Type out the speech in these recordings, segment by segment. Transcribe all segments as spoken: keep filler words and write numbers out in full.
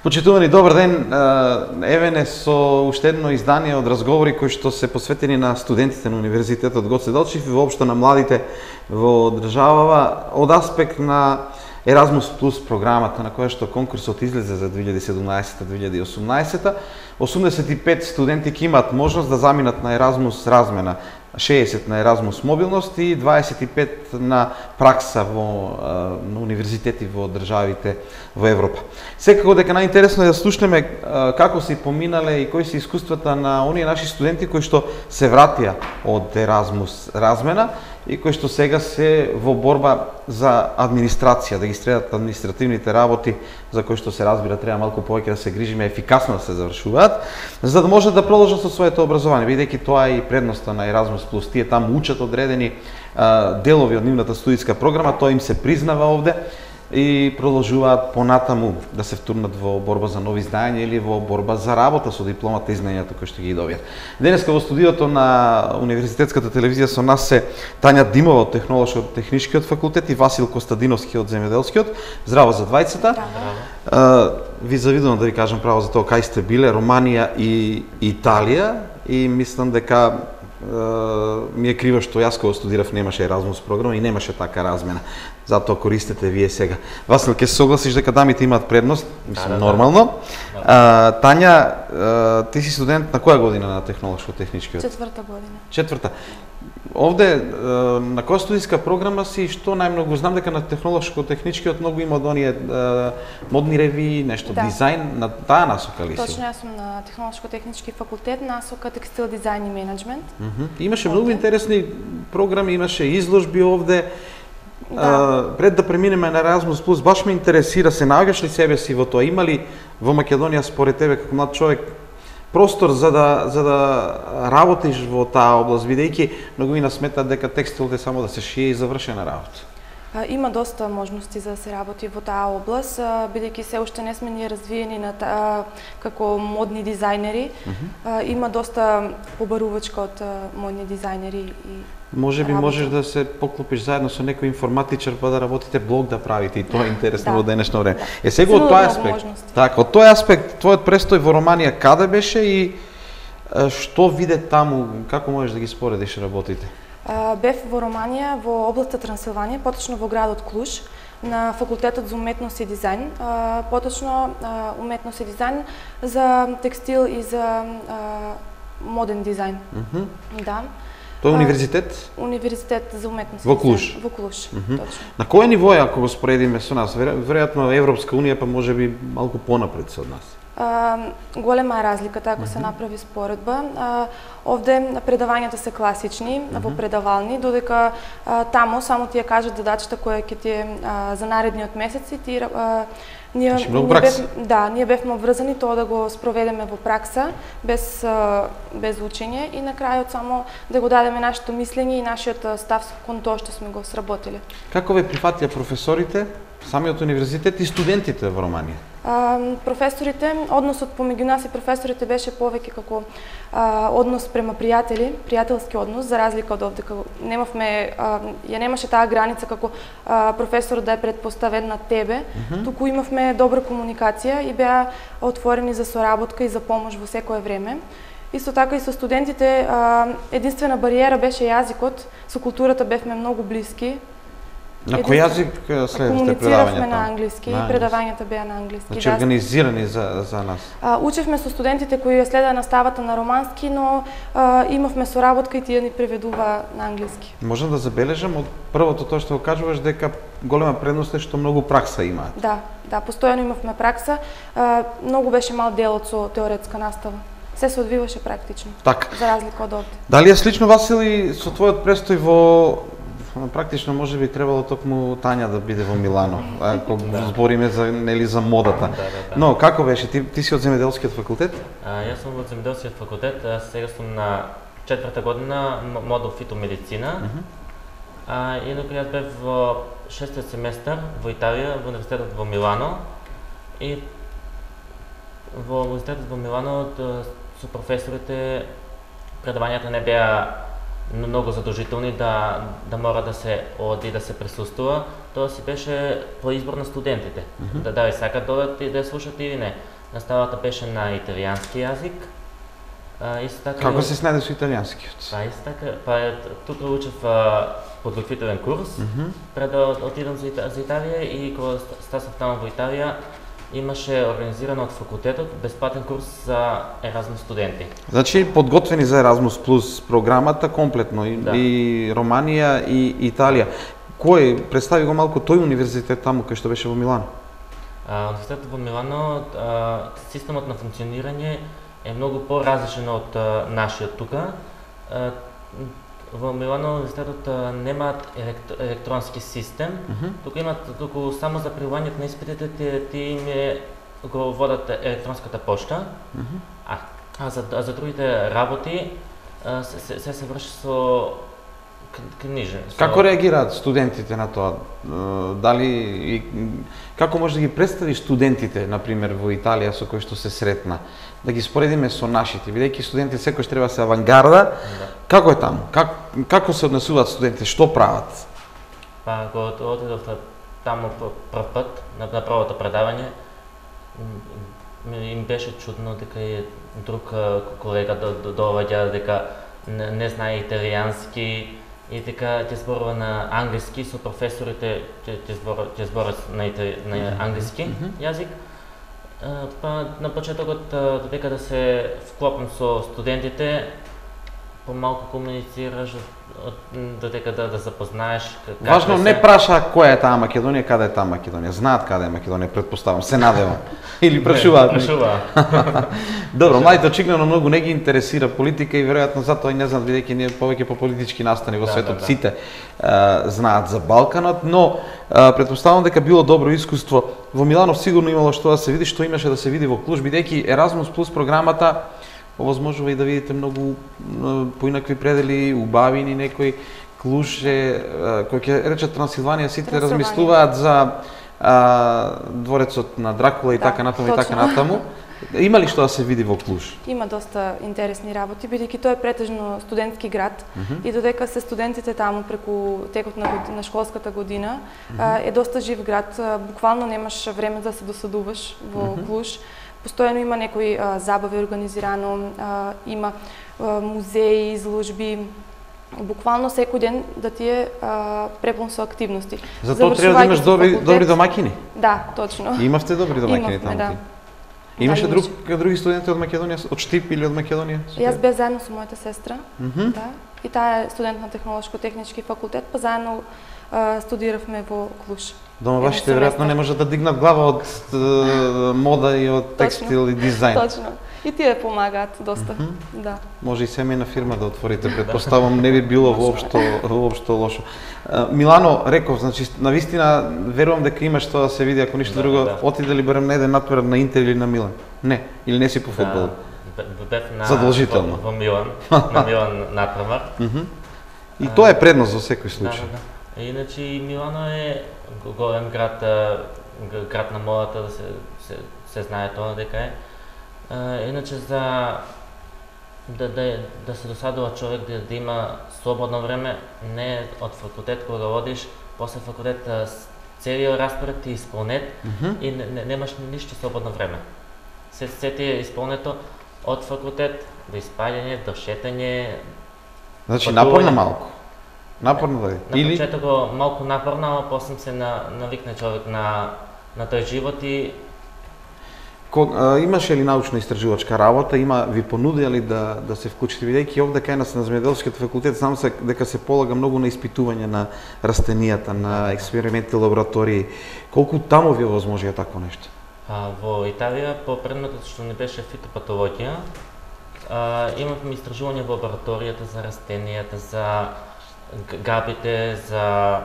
Почитувани, добар ден. Еве не со уште едно издание од разговори кои што се посветени на студентите на Универзитетот Гоце Делчев и воопшто на младите во државава од аспект на Еразмус плюс програмата на која што конкурсот излезе за две илјади седумнаесета - две илјади и осумнаесета. осумдесет и пет студенти ќе имаат можност да заминат на Еразмус размена, шеесет на Еразмус мобилност и дваесет и пет на пракса во на универзитети во државите во Европа. Секако дека најинтересно е да слушнеме како се поминале и кои се искуствата на оние наши студенти кои што се вратија од Еразмус размена и кои што сега се во борба за администрација, да ги средат административните работи за кои што се разбира треба малку повеќе да се грижиме, ефикасно да се завршуваат, за да можат да продолжат со своето образование, бидејќи тоа е и предноста на Еразмус плюс. Тие таму учат одредени а, делови од нивната студиска програма, тоа им се признава овде и продолжуваат понатаму да се втурнат во борба за нови знаења или во борба за работа со дипломата и знаењата кои што ги добијат. Денеска во студиото на Универзитетската телевизија со нас се Тања Димова од Технолошко-техничкиот факултет и Васил Костадиновски од Земјоделскиот. Здраво за двајцата. Здраво. Ви завидувам да ви кажам право за тоа кај сте биле, Романија и Италија, и мислам дека ми е криво што јас кога студирав немаше Еразмус програма и немаше така размена. Затоа користете вие сега. Васил, ќе се согласиш дека дамите имаат предност? Мислам, да, да, нормално. Да. А, Тања, а, ти си студент на која година на Технолошко-техничкиот? Четврта година. Четврта. Овде, на која студиска програма си, што најмногу? Знам дека на Технолошко-техничкиот многу има од оние модни ревии, нешто, да. Дизајн, на таа насока ли си? Точно, јас сум на Технолошко-технички факултет, насока текстил дизајн и менеджмент. Uh -huh. Имаше многу интересни програми, имаше изложби овде. Да. А, пред да преминеме на Еразмус плюс, баш ме интересира, се наоѓаш ли себе си во тоа? Има ли во Македонија според тебе како млад човек простор за да за да работиш во таа област, бидејќи многумина сметаат дека текстилот е само да се шие и завршена работа? Има доста можности за да се работи во таа област, бидејќи се уште не сме ние развиени на таа како модни дизајнери. Uh -huh. Има доста побарувачка од модни дизајнери и може би можеш да се поклопиш заедно со некој информатичар па да работите блог да правите и тоа е интересно во денешно време. Да. Е сега од тој аспект. Така, од тој аспект твојот престој во Романија каде беше и што виде таму, како можеш да ги споредиш работите? Бев во Романија, во областа Трансилванија, поточно во градот Клуж, на факултетот за уметност и дизајн, поточно уметност и дизајн за текстил и за моден дизајн. Uh -huh. Да. Тоа е универзитет? Универзитет за уметност. Во Клуж. Во Клуж, uh -huh. Точно. На кој ниво е ако го споредиме со нас? Веројатно Европска унија па можеби малку понапред со нас. Uh, голема е разликата ако uh -huh. се направи споредба. Uh, овде предавањата се класични, uh -huh. во предавални, додека uh, таму само ти ја кажат задачата која ќе ти е uh, за наредниот месец и ти uh, ние, ние бев, да, ние бевме обврзани тоа да го спроведеме во пракса без uh, без учење и на крајот само да го дадеме нашето мислење и нашиот став кон тоа што сме го сработиле. Како ве прифатија професорите, самиот универзитет и студентите во Романија? Uh, професорите, односот помеѓу нас и професорите беше повеќе како uh, однос према пријатели, пријателски однос, за разлика од овде како немавме uh, ја немаше таа граница како uh, професорот да е предпоставен на тебе, uh -huh. туку имавме добра комуникација и беа отворени за соработка и за помош во секое време. Исто така и со студентите, uh, единствена бариера беше јазикот, со културата бевме многу блиски. На кој јазик следите предавањата? Комунициравме на англиски, и предавањата беа на англиски. Значи организирани за, за нас? А, учевме со студентите кои ја следеа наставата на романски, но а, имавме соработка и тие ни преведува на англиски. Можам да забележам од првото тоа што го кажуваш дека голема предност е што многу пракса имаат. Да, да, постојано имавме пракса. А, многу беше мал делот со теоретска настава. Се се одвиваше практично. Так. За разлика од овде. Дали е слично, Васили, со твојот престој во практично може би требало токму Тања да биде во Милано, ако збориме за нели за модата. Да, да, да. Но како беше? Ти, ти си од Земјоделскиот факултет? А, јас сум од Земјоделскиот факултет, а сега сум на четврта година модул фитомедицина. Uh -huh. А инаку јас бев во шестиот семестар во Италија, во универзитетот во Милано и во универзитетот во Милано со професорите предавањата не беа многу задолжителни да да мора да се оди да се присуствува, тоа си беше по избор на студентите. Mm -hmm. Да дали сакат да одат и да слушат или не. Наставата беше на италијански јазик. А, исто така Како се снајде со италијанскиот? Па исто така, па тука учев подготвителен курс, mm -hmm. пред да отидам за, Ита, за Италија и кога стасав таму во Италија, имаше организирано од факултетот бесплатен курс за Еразмус студенти. Значи подготвени за Еразмус плюс програмата комплетно и, да. и Романија и Италија. Кој представи го малку тој универзитет таму кај што беше во Милано? А, универзитетот во Милано, а, системот на функционирање е многу поразличен од а, нашиот тука. А, во Милано универзитетот а, немаат елект, електронски систем. Mm -hmm. Тука имат туку само за прилагањето на испитите ти, ти им е, го водат електронската пошта. Mm -hmm. А, а за а за другите работи а, се, се, се се врши со книжен. Со... Како реагираат студентите на тоа? Дали и како може да ги представиш студентите, на пример во Италија со кои што се сретна? Да ги споредиме со нашите, бидејќи студентите секојаш треба се авангарда. Да. Како е таму? Как, како се однесуваат студентите? Што прават? Па кога отидов таму прв пат на, на првото предавање, им беше чудно дека и друг колега доаѓа дека не, не знае италијански и дека ќе зборува на англиски со професорите, ќе зборува ќе зборува на, на англиски mm -hmm. јазик. Па на почетокот додека да се вклопам со студентите, помалку комуницираш, додека да, да запознаеш. Важно да се... не праша која е таа Македонија, каде е таа Македонија. Знаат каде е Македонија, предпоставам, се надевам. Или прашуваат. Прашуваат. Добро, младите очигледно многу не ги интересира политика и веројатно затоа и не знаат, бидејќи ние повеќе по политички настани во да, светот да, да. сите а, знаат за Балканот, но а, предпоставам дека било добро искуство. Во Милано сигурно имало што да се види, што имаше да се види во Клуж, бидејќи Еразмус плюс програмата овозможува и да видите многу поинакви предели, убавини некои. Клуж е, кој ќе речат Трансилванија, сите размислуваат за а, дворецот на Дракула и да, така натаму и така натаму. Има ли што да се види во Клуж? Има доста интересни работи, бидејќи тоа е претежно студентски град mm -hmm. и додека се студентите таму преку текот на, на школската година, mm -hmm. е доста жив град. Буквално немаш време да се досадуваш во mm -hmm. Клуж. Постојано има некои а, забави организирано, а, има а, музеи, изложби. Буквално секој ден да ти е а, препун со активности. Затоа треба да имаш добри, добри домаќини? Да, точно. И имавте добри домаќини таму? Да. Имаше да, друг, други студенти од Македонија, од Штип или од Македонија? Јас бев заедно со мојата сестра, mm -hmm. да, и таа е студент на Технолошко-технички факултет, па заедно а, студиравме во Клуж. Дома вашите веројатно не можат да дигнат глава од е, мода и од текстил и дизајн. Точно. И тие помагаат доста. Mm -hmm. Да. Може и семејна фирма да отворите, предпоставам не би било воопшто воопшто лошо. Милано, реков, значи навистина верувам дека имаш тоа да се види, ако ништо да, друго, да. Отиде ли барем на еден натпред на Интер или на Милан? Не, или не си по фудбал? Да, бев на задолжително во, во Милан, на Милан натпревар. Mm -hmm. И а, тоа е предност во секој случај. Да, да. Иначе Милано е голем град, град на модата, да се се, се знае тоа дека е. Uh, иначе за да, да, да се досадува човек да, да има слободно време, не од факултет кога одиш, после факултет целиот распоред ти исполнет mm -hmm. и не, не, немаш ништо слободно време. Се, се ти е исполнето од факултет до испаѓање, до шетање. Значи напорно малку. Напорно да е. На Или... почеток малку напорно, а после се на, навикне човек на, на тој живот и Ко, а, имаше ли научно-истражувачка работа, има ви понудија ли да да се вклучите, бидејќи овде кај нас на земјоделскиот факултет знам се дека се полага многу на испитување на растенијата, на експерименти, лаборатории. Колку таму ви овозможија такво нешто? А, во Италија по предметот што не беше фитопатологија, а, имавме истражување во лабораторијата за растенијата, за габите, за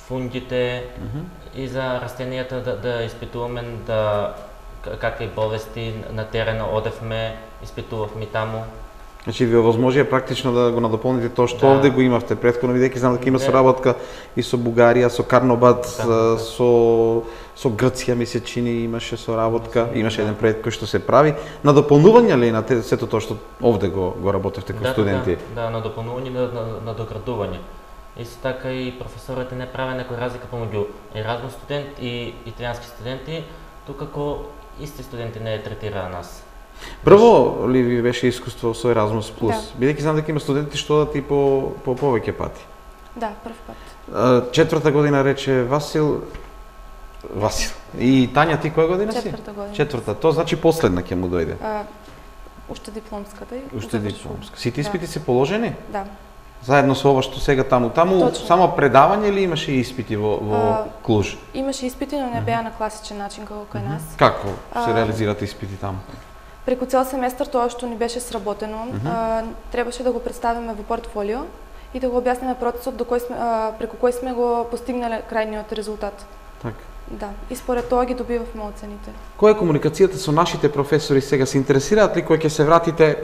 фунгите mm -hmm. и за растенијата да, да испитуваме да какви болести на терена одевме, испитувавме таму. Значи ви овозможија практично да го надополните тоа што Да. овде го имавте претходно, бидејќи знам дека има Не. соработка и со Бугарија, со Карнобат, Да. со со Грција ми се чини имаше соработка, имаше еден проект кој што се прави на дополнување ли на те- сето тоа што овде го го работевте како Да, студенти. Да, да, на допълнување, на, на, на доградување. Исто така и професорите не праве некоја разлика помеѓу Еразмус студент и италијански студенти, тука исти студенти не третира нас. Прво ли ви беше искуство со Erasmus Plus? Да. Бидејќи знам дека има студенти што одат и по по повеќе пати. Да, прв пат. А, Четврта година рече Васил Васил. И Тања, ти која година си? Четврта година. Четврта. Тоа значи последна ќе му дојде. А, уште дипломската и Уште завршувам. дипломска. Сите Да. испити се положени? Да. Заедно со ова што сега таму. Таму Точно. само предавање или имаше и испити во во А, Клуж? Имаше испити, но не беа на класичен начин како кај нас. Како се А, реализираат испити таму? Преку цел семестар тоа што ни беше сработено, а, требаше да го представиме во портфолио и да го објасниме процесот до кој сме, а, преку кој сме го постигнале крајниот резултат. Така. Да, и според тоа ги добивавме оцените. Која е комуникацијата со нашите професори сега? Се интересираат ли кој ќе се вратите,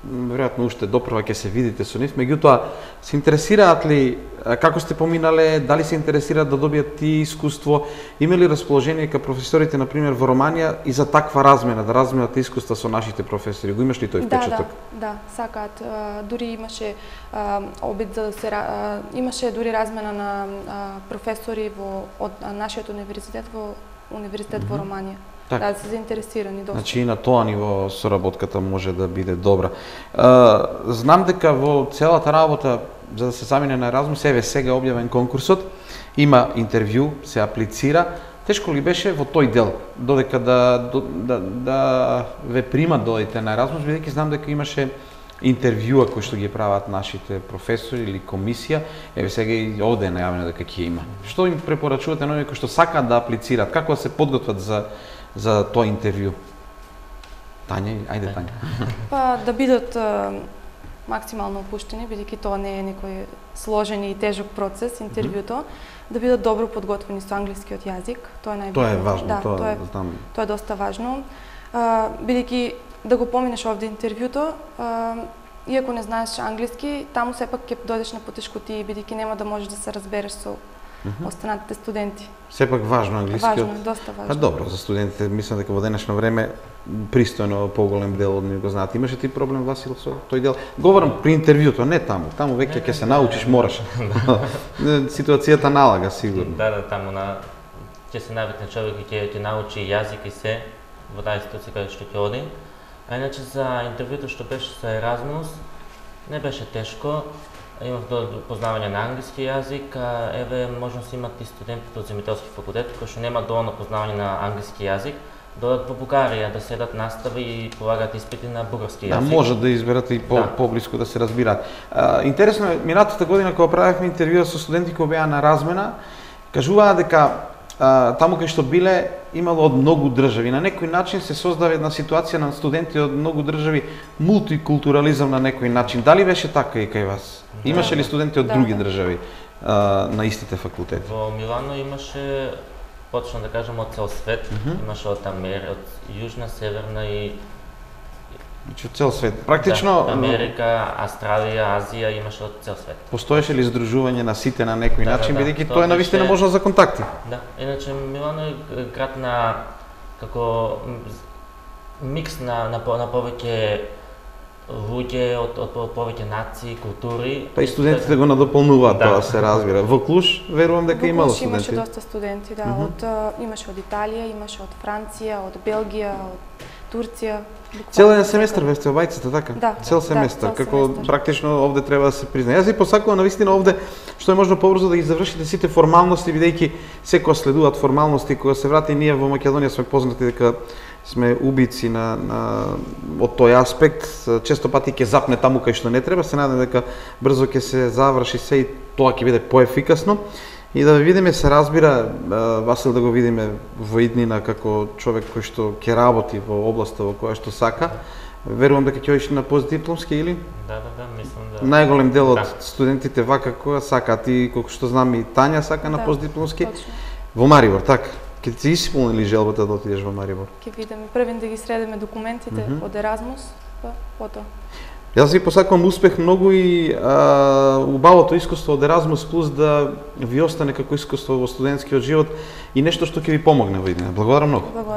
веројатно уште допрва ќе се видите со нив, меѓутоа се интересираат ли а, како сте поминале, дали се интересираат да добијат ти искуство, има ли расположение кај професорите на пример во Романија и за таква размена, да разменат искуства со нашите професори? Го имаш ли тој Да, впечаток? да, да, сакаат. А, дури имаше а, обид за да се ра- а, имаше дури размена на а, професори во од а, нашиот универзитет во универзитет во Романија. Така. Да, се заинтересирани доста. Значи и на тоа ниво соработката може да биде добра. А, знам дека во целата работа за да се замине на Erasmus, еве сега е објавен конкурсот, има интервју, се аплицира. Тешко ли беше во тој дел, додека да да да ве примат додите на Erasmus, бидејќи знам дека имаше интервјуа кои што ги прават нашите професори или комисија, еве сега и овде е најавено дека ќе има. Што им препорачувате на оние кои што сакаат да аплицираат, како да се подготват за за тоа интервју? Тања, ајде Тања. Па да бидат а, максимално опуштени, бидејќи тоа не е некој сложен и тежок процес, интервјуто, да бидат добро подготвени со англискиот јазик, тоа е најбитно. Тоа е важно, да, тоа, тоа е знам. Тоа е доста важно. А, бидејќи да го поминеш овде интервјуто, а, иако не знаеш англиски, таму сепак ќе дојдеш на потешкотии, бидејќи нема да можеш да се разбереш со останатите студенти. Сепак важно англискиот. Важно, е, доста Па важно. добро, за студентите мислам дека во денешно време пристојно поголем дел од нив го знаат. Имаше ти проблем Васил со тој дел? Говорам при интервјуто, не таму. Таму веќе ќе се научиш, мораш. Ситуацијата налага сигурно. Да, да, таму на ќе се навикне човек и ќе ќе научи јазик и се во таа ситуација каде што ќе оди. А иначе за интервјуто што беше со Erasmus, не беше тешко. Имав до познавање на англиски јазик, а еве можност имат и студентите од земјоделски факултет кои што немаат доволно познавање на англиски јазик, додат во Бугарија да седат настави и полагаат испити на бугарски Да, јазик. може да изберат и по, Да. поблиску да се разбираат. А, интересно е, минатата година кога правевме интервјуа со студенти кои беа на размена, кажуваа дека а, таму кај што биле имало од многу држави. На некој начин се создава една ситуација на студенти од многу држави, мултикултурализам на некој начин. Дали беше така и кај вас? Да. Имаше ли студенти од Да, други да. држави а, на истите факултети? Во Милано имаше, почна да кажем, од цел свет. Имаше од Амер, од Јужна, Северна и Значи од цел свет. Практично да, Америка, Австралија, Азија, имаше од цел свет. постоеше ли здружување на сите на некој Да, да, начин, да. бидејќи Тоа тоа е навистина беше- можност за контакти. Да, иначе Милано е град на како м, микс на на, по- на повеќе луѓе од од по- повеќе нации, култури. Па и студентите го надополнуваат, Да. тоа се разбира. Во Клуж верувам дека Во имало Клуш имаше студенти. доста студенти, да, од а, имаше од Италија, имаше од Франција, од Белгија, од Турција. буквално Цел еден од семестар секаде. ве сте во бајцата, така? Да, Цел да, семестар, цел како семестар. практично овде треба да се признае. Јас ви посакувам навистина овде што е можно побрзо да ги завршите сите формалности, бидејќи секоја следуваат формалности, кога се врати ние во Македонија сме познати дека сме убици на, на од тој аспект, често пати ќе запне таму кај што не треба, се надам дека брзо ќе се заврши се и тоа ќе биде поефикасно. И да видиме, се разбира, а, Васил да го видиме во иднина како човек кој што ќе работи во областа во која што сака. Верувам дека ќе одиш на постдипломски или? Да, да, да, мислам да. Најголем дел од Да. студентите вака која сакаат и колку што знам и Тања сака на Да, постдипломски. точно. Во Марибор, така. Ќе ти исполни ли желбата да отидеш во Марибор? Ќе видиме првен да ги средиме документите Мгм. од Еразмус, па потоа. Јас ви посакувам успех многу и а, убавото искуство од Еразмус Плюс да ви остане како искуство во студентскиот живот и нешто што ќе ви помогне во иднина. Благодарам многу.